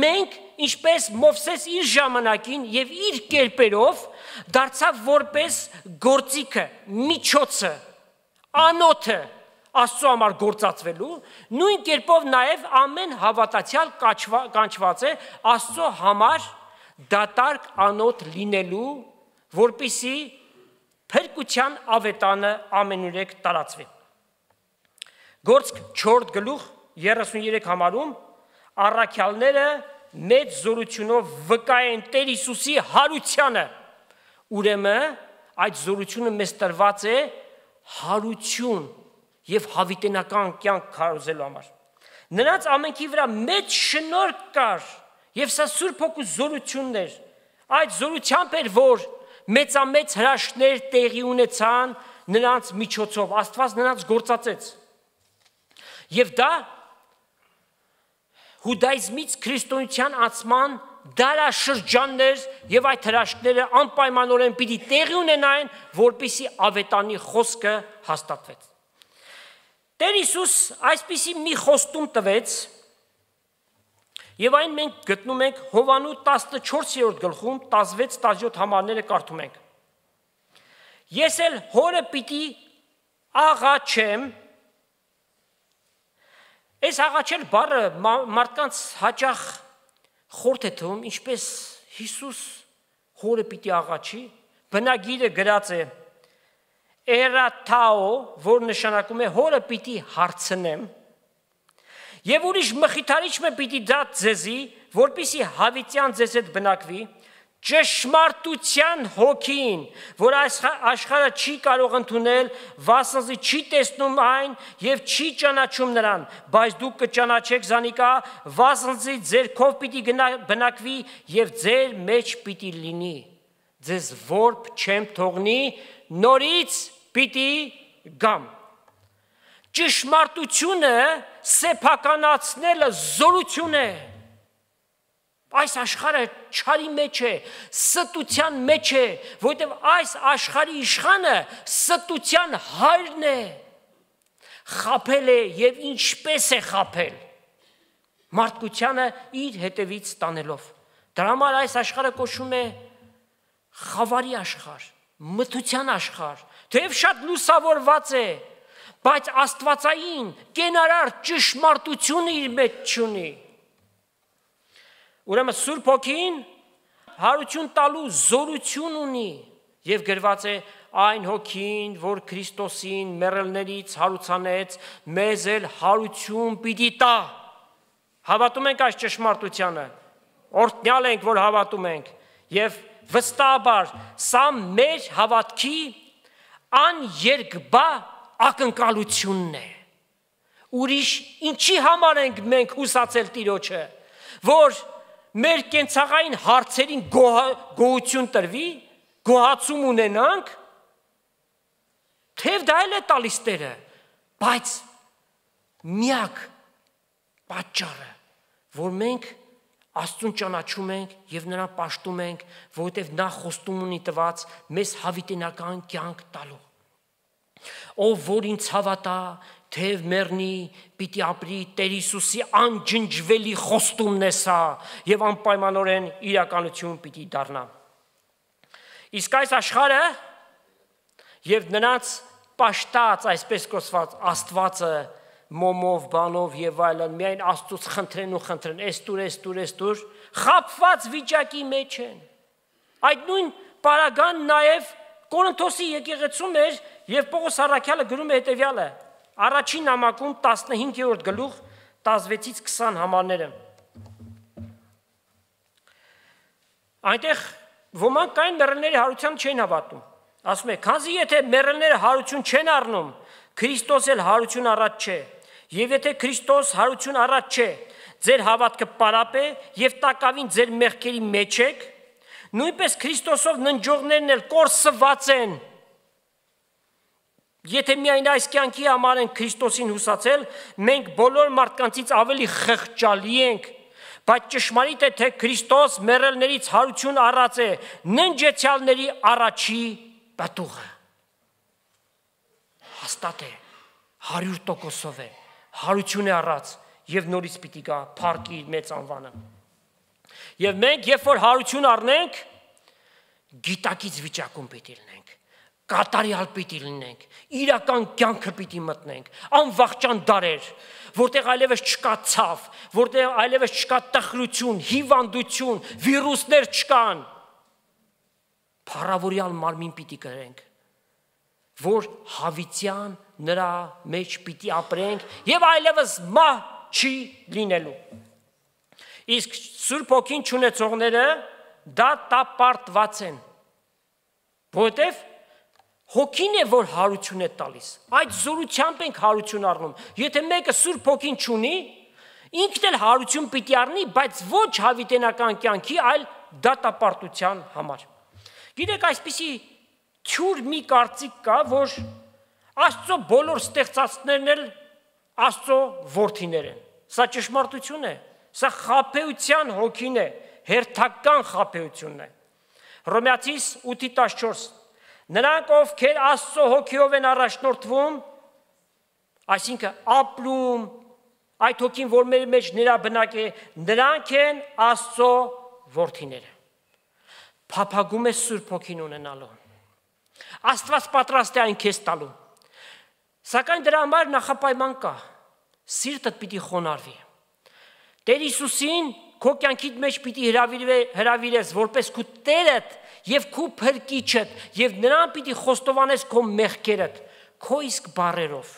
Մենք, ինչպես Մովսես իր ժամանակին եւ իր կերպերով դարձավ որպես գործիքը, միջոցը, անոթը Աստծո համար գործածվելու, նույն կերպով նաեւ ամեն հավատացյալ կանչված է Աստծո համար դատարկ անոթ լինելու, որպեսզի փրկության ավետանը ամենուրեք տարածվի։ Գործք 4 գլուխ 33 համարում առաքյալները մեծ զորությունով վկա են Տեր Հիսուսի հարությանը։ Ուրեմն այդ զորությունը մեզ տրված է հարություն եւ հավիտենական կյանք քարոզելու համար։ Նրանց ամենքի վրա մեծ շնորհք կար եւ սա Սուրբ Հոգու զորությունն էր։ Այդ զորությամբ էր, որ մեծամեծ հրաշքներ տեղի ունեցան նրանց միջոցով, Աստված նրանց գործածեց։ Եվ դա հուդայիզմից քրիստոնեության անցման դարաշրջաններ եւ այդ հրաշքները անպայմանորեն պիտի տեղի ունենային, որպեսզի ավետանի խոսքը հաստատվեց։ Տեր Հիսուս այսպիսի մի խոստում տվեց, եւ այն մենք գտնում ենք Հովանու 14-րդ գլխում 16-17 համարները կարդում ենք։ Ես էլ հորը պիտի աղաչեմ։ Այս աղաչել բառը մարդկանց հաճախ խորթ է թվում, ինչպես Հիսուս հորը պիտի աղաչի, բնագիրը գրած է էրաթաո, որ նշանակում է հորը պիտի հարցնեմ, եւ ուրիշ մխիթարիչ մը պիտի դա ձեզի, որպեսի հավիտյան ձեզ հետ բնակվի, ճշմարտության հոգին, որ աշխարհը չի կարող ընդունել, վասնզի չի տեսնում այն եւ չի ճանաչում նրան, բայց դուք կճանաչեք զանիկա, վասնզի ձեր քով պիտի բնակվի եւ ձեր մեջ պիտի լինի, ձեզ որբ չեմ թողնի, նորից պիտի գամ։ Ճշմարտությունը սեփականացնելը զորություն է։ Այս աշխարհը չարի մեջ է, ստության մեջ է, որովհետև այս աշխարհի իշխանը ստության հայրն է։ Խաբել է եւ ինչպես է խաբել։ Մարդկությանը իր հետևից տանելով։ Դրա համար այս աշխարհը կոչվում է խավարի աշխարհ, մթության աշխարհ, թեև շատ լուսավորված է, բայց աստվածային կենարար ճշմարտությունը իր մեջ չունի։ Ուրեմն Սուրբ Հոգին հարություն տալու զորություն ունի եւ գրված է այն հոգին, որ Քրիստոսին մեռելներից հարուցանեց, մեզ էլ հարություն պիտի տա։ Հավատում ենք այս ճշմարտությանը, օրհնյալ ենք, որ հավատում ենք եւ վստահաբար սա մեր հավատքի աներկբա ակնկալությունն է։ Ուրիշ ինչի համար ենք մենք հուսացել Տիրոջը, որ մեր կենցաղային հարցերին գոհություն տրվի, գոհացում ունենանք, թեև դա էլ է տալիս Տերը, բայց միակ պատճառը, որ մենք Աստծուն ճանաչում ենք եւ նրան պաշտում ենք, որովհետեւ նա խոստում ունի տված մեզ հավիտենական կյանք տալու։ Ով որ ինձ հավատա, թեև մեռնի, պիտի ապրի, Տեր Հիսուսի անջնջվելի խոստումն է սա եւ անպայմանորեն իրականություն պիտի դառնա։ Իսկ այս աշխարհը եւ նրանց պաշտած, այսպես կոչված Աստվածը մոմով, բանով եւ այլն, միայն Աստծուց խնդրեն ու խնդրեն, էստուր, խաբված վիճակի մեջ են։ Այդ նույն պարագան նաեւ Կորինթոսի եկեղեցում էր եւ Պողոս առաքյալը գրում է հետեւյալը. Առաջին նամակում 15-րդ գլուխ 16-ից 20 համարները։ Այնտեղ ոմանք կային մեռելների հարության չեն հավատում։ Ասում է, քանզի եթե մեռելները հարություն չեն առնում, Քրիստոս էլ հարություն առած չէ։ Եվ եթե Քրիստոս հարություն առած չէ, ձեր հավատքը պարապ է եւ տակավին ձեր մեղքերի մեջ եք, նույնպես Քրիստոսով ննջողներն էլ կորսված են։ Եթե միայն այս կյանքի համար են Քրիստոսին հուսացել, մենք բոլոր մարդկանցից ավելի խղճալի ենք, բայց ճշմարիտ է, թե Քրիստոս մեռելներից հարություն առած է, ննջեցյալների առաջի պատուղը։ Հաստատ է, 100% է, հարություն է առած եւ նորից պիտի գա փառքի իր մեծ անվանը։ Եվ մենք, երբ որ հարություն առնենք, գիտակից վիճակում պիտի լինենք, կատարյալ պիտի լինենք, իրական կյանքը պիտի մտնենք, անվախճան դարեր, որտեղ այլևս չկա ցավ, որտեղ այլևս չկա տխրություն, հիվանդություն, վիրուսներ չկան, փառավորյալ մարմին պիտի կրենք, որ հավիտյան նրա մեջ պիտի ապրենք եւ այլևս մահ չի լինելու։ Իսկ Սուրբ Հոգին չունեցողները դա տապարտված են, որովհետև Հոգին է, որ հարություն է տալիս։ Այդ զորությամբ ենք հարություն առնում։ Եթե մեկը Սուրբ Հոգին չունի, ինքն էլ հարություն պիտի առնի, բայց ոչ հավիտենական կյանքի, այլ դատապարտության համար։ Գիտեք, այսպիսի թյուր մի կարծիք կա, որ Աստծո բոլոր ստեղծածներն էլ Աստծո որդիներ են։ Սա ճշմարտություն է։ Սա խաբեության հոգին է, հերթական խաբեությունն է։ Հռոմեացիս 8:14 Նրանք, ովքեր Աստծո հոգիով են առաջնորդվում, այսինքն ապրում, այդ հոգին, որ մեր մեջ նրա բնակ է, նրանք են Աստծո որդիները։ Փափագում է Սուրբ Հոգին ունենալու։ Աստված պատրաստ է այն քեզ տալու։ Սակայն դրա համար նախապայման կա։ Սիրտդ պիտի խոնարհվի։ Տեր Հիսուսին քո կյանքիդ մեջ պիտի հրավիրես որպես քո Տերդ եւ քո Փրկիչդ եւ նրան պիտի խոստովանես քո մեղքերդ, քո իսկ բառերով։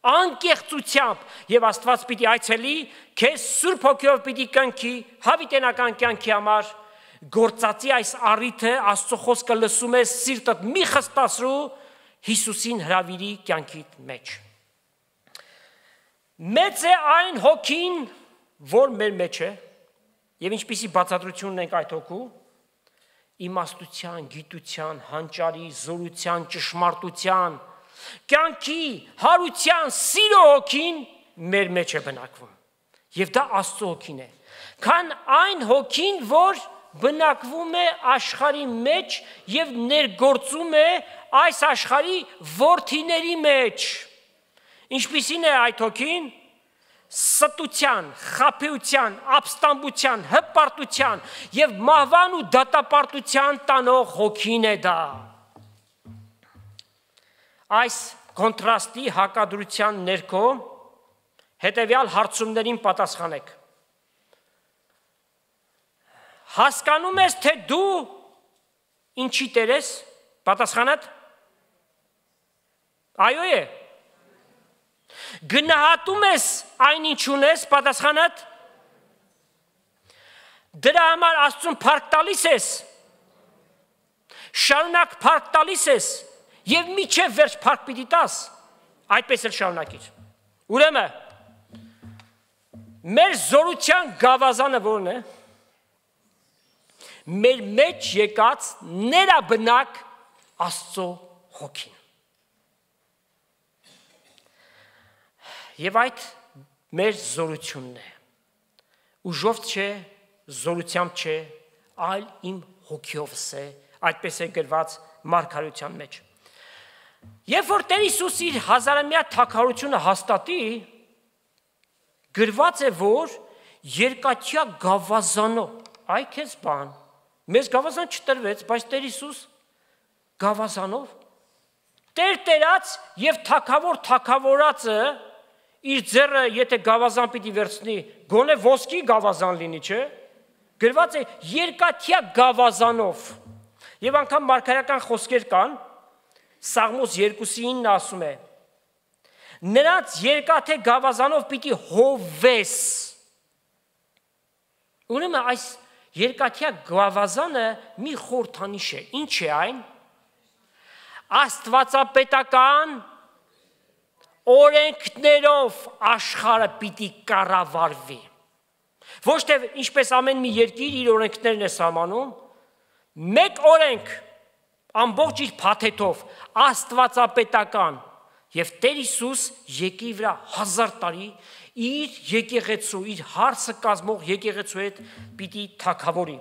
Անկեղծությամբ եւ Աստված պիտի այցելի, քեզ Սուրբ Հոգիով պիտի կնքի հավիտենական կյանքի համար, գործածի այս առիթը, Աստծո խոսքը լսում ես, սիրտդ մի խստացրու, Հիսուսին հրավիրի կյանքիդ մեջ։ Մեծ է այն հոգին, որ մեր մեջ է, եւ ինչպիսի բացատրությունն ենք այդ հոգու, իմաստության, գիտության, հանճարի, զորության, ճշմարտության, կյանքի, հարության, սիրո հոգին մեր մեջ է բնակվում։ Եվ դա Աստծո հոգին է։ Քան այն հոգին, որ բնակվում է աշխարհի մեջ եւ ներգործում է այս աշխարհի որդիների մեջ։ Ինչպիսին է այդ հոգին? Ստության, խաբեության, ապստամբության, հպարտության եւ մահվան ու դատապարտության տանող հոգին է դա։ Այս կոնտրաստի հակադրության ներքո հետեւյալ հարցումներին պատասխանեք։ Հասկանում ես, թե դու ինչի տեր ես, պատասխանդ այո է։ Գնահատում ես այն ինչ ունես, պատասխանդ դրա համար Աստծուն փառք տալիս ես, շարունակ փառք տալիս ես եւ միջև վերջ փառք պիտի տաս, այդպես էլ շարունակիր։ Ուրեմն մեր զորության գավազանը որն է? Մեր մեջ եկած ներաբնակ Աստծո հոգին։ Եվ այդ մեր զորությունն է։ Ուժով չէ, զորությամբ չէ, այլ իմ հոգիովս է, այդպես է գրված մարգարեության մեջ։ Երբ որ Տեր Հիսուս իր հազարամյա թագավորությունը հաստատի, գրված է, որ երկաթյա գավազանով, այ քեզ բան, մեզ գավազան չտրվեց, բայց Տեր Հիսուս գավազանով, Տեր տերած եւ թագավոր թագավորածը իր ձեռը եթե գավազան պիտի վերցնի, գոնե ոսկի գավազան լինի, չէ՞։ Գրված է երկաթյա գավազանով։ Եվ անգամ մարգարեական խոսքեր կան, Սաղմոս 2:9 ասում է. Նրանց երկաթե գավազանով պիտի հովես։ Ուրեմն այս երկաթյա գավազանը մի խորհրդանիշ է։ Ինչ է այն? Աստվածապետական օրենքներով աշխարհը պիտի կառավարվի։ Ոչ թե ինչպես ամեն մի երկիր իր օրենքներն է սահմանում, մեկ օրենք ամբողջ իր փաթեթով աստվածապետական եւ Տեր Հիսուս եկի վրա 1000 տարի իր եկեղեցու, իր հարսը կազմող եկեղեցու հետ պիտի թագավորի։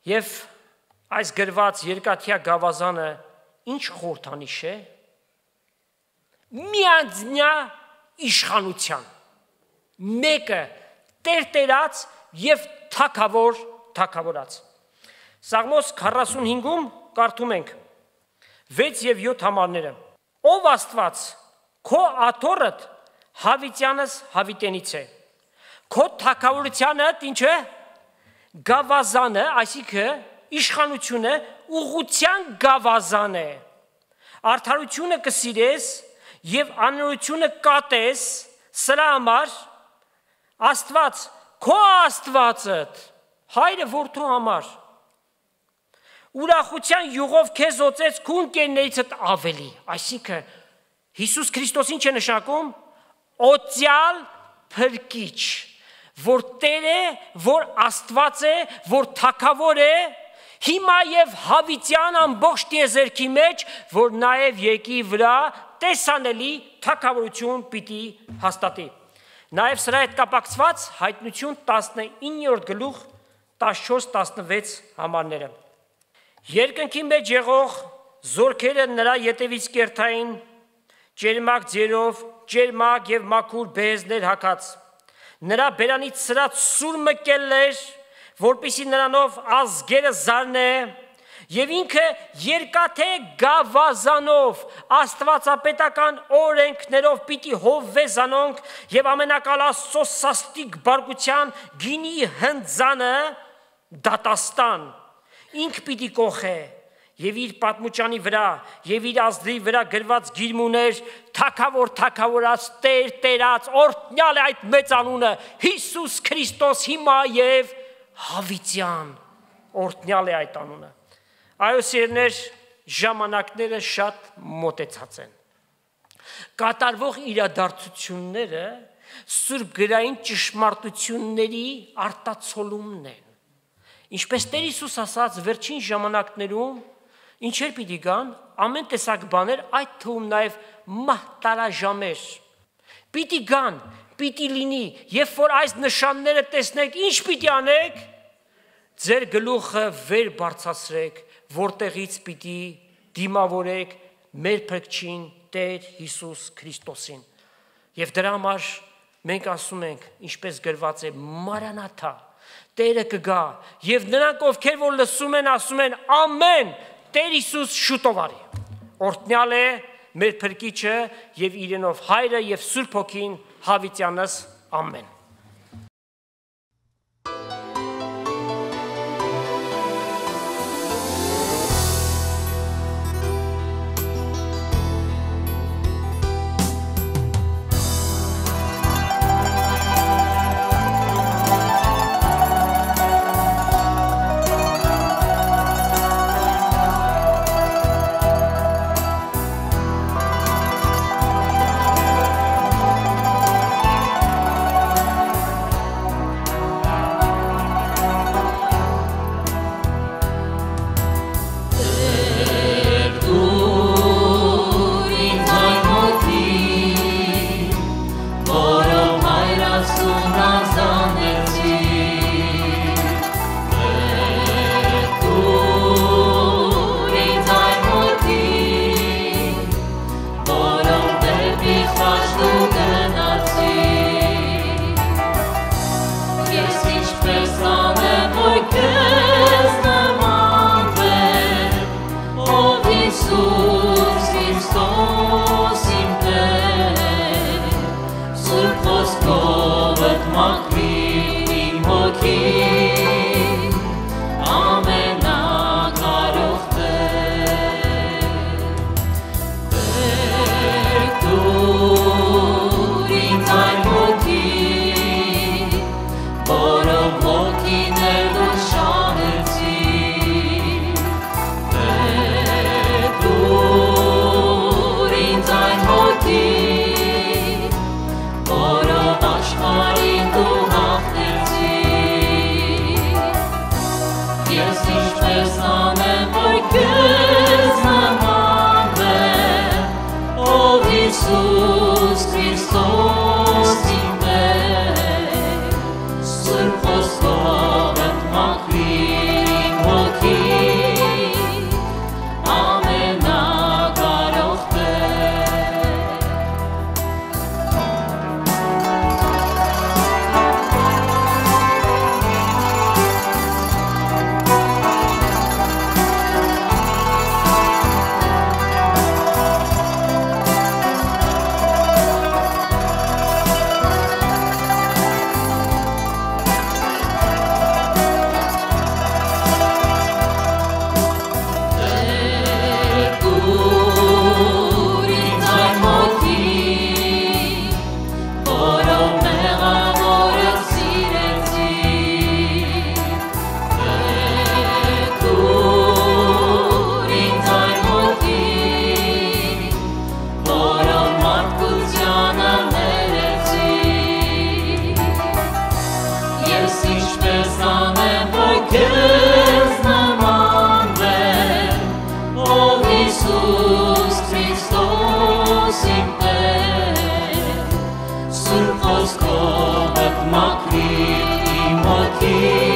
Եվ այս գրված երկաթյա գավազանը ինչ խորհրդանիշ է? Միանձնյա իշխանության, մեկը Տեր տերած եւ թագավոր թագավորած։ Սաղմոս 45-ում կարդում ենք 6 եւ 7 համարները։ Ով Աստված, քո աթոռդ հավիտյանս հավիտենից է։ Քո թագավորությանդ ինչ է? Գավազանը, այսինքն իշխանությունը ուղղության գավազան է։ Արդարությունը կսիրես եւ անօրությունը կատես, սրա համար Աստված, քո Աստվածդ, հայրը որդու համար ուրախության յուղով քեզ օծեց քու ընկերներիցդ ավելի։ Այսինքն Հիսուս Քրիստոսին չէ նշանակում օծյալ փրկիչ, որ Տեր է, որ Աստված է, որ Թագավոր է, հիմա եւ հավիտյան ամբողջ տիեզերքի մեջ, որ նաեւ եկի վրա տեսանելի թագավորություն պիտի հաստատի։ Նաեւ սրա հետ կապակցված Հայտնություն 19-րդ գլուխ 14-16 համարները։ Երկնքի մեջ եղող զորքերը նրա ետևից կերթային, ջերմակ ձերով, ջերմակ եւ մաքուր բեզներ հագած։ Նրա բերանից սրած սուր մկել էր, որպիսի նրանով ազգերը զարնե, եւ ինքը երկաթե գավազանով աստվածապետական օրենքներով պիտի հովվե զանոնք եւ ամենակալ Աստծո սաստիկ բարգության գինի հնձանը դատաստան ինք պիտի կողե եւ իր պատմուճանի վրա եւ իր ազդրի վրա գրված գիրմուներ թագավորած Տեր Տերած օրհնյալ է այդ մեծ անունը Հիսուս Քրիստոս հիմա եւ հավիտյան օրհնյալ է այդ անունը։ Այո սիրներ, ժամանակները շատ մոտեցած են։ Կատարվող իրադարձությունները սուրբ գրային ճշմարտությունների արտացոլումն են։ Ինչպես Տեր Հիսուս ասաց վերջին ժամանակներում ինչեր պիտի գան, ամեն տեսակ բաներ, այդ թվում նաև մահտարաժամեր։ Պիտի գան, պիտի լինի, երբ որ այս նշանները տեսնեք, ինչ պիտի անեք, ձեր գլուխը վեր բարձրացրեք, որտեղից պիտի դիմավորեք մեր փրկչին Տեր Հիսուս Քրիստոսին։ Եվ դրա համար մենք ասում ենք, ինչպես գրված է, Մարանաթա, Տերը կգա, եւ նրանք ովքեր որ լսում են, ասում են ամեն, Տեր Հիսուս շուտով արի։ Օրհնյալ է մեր փրկիչը եւ իրենով Հայրը եւ Սուրբ Հոգին հավիտյանս ամեն։ Քեզ